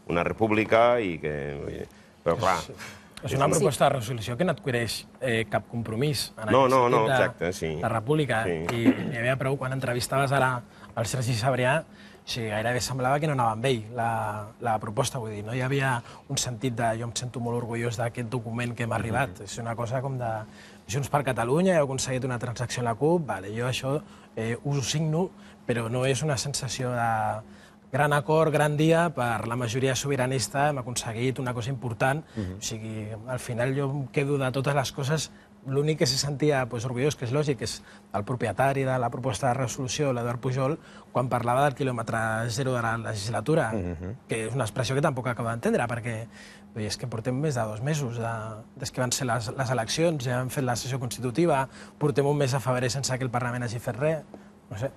una república i que... Però, clar... És una proposta de resolució que no adquireix cap compromís en No, aquest no, sentit exacte, sí. de república. Sí. I n'hi havia prou, quan entrevistaves ara el Sergi Sabrià, gairebé semblava que no anava amb ell la proposta. Vull dir, no hi havia un sentit de jo em sento molt orgullós d'aquest document que m'ha arribat. És una cosa com de Junts per Catalunya, heu aconseguit una transacció amb la CUP, vale, jo això us ho signo, però no és una sensació de gran acord, gran dia, per la majoria sobiranista hem aconseguit una cosa important. O sigui, al final jo em quedo de totes les coses, l'únic que se sentia orgullós, que és lògic, és el propietari de la proposta de resolució, l'Eduard Pujol, quan parlava del quilòmetre zero de la legislatura, que és una expressió que tampoc acabo d'entendre, perquè és que portem més de 2 mesos des que van ser les eleccions, ja hem fet la sessió constitutiva, portem un mes a febrer sense que el Parlament hagi fet res, no sé.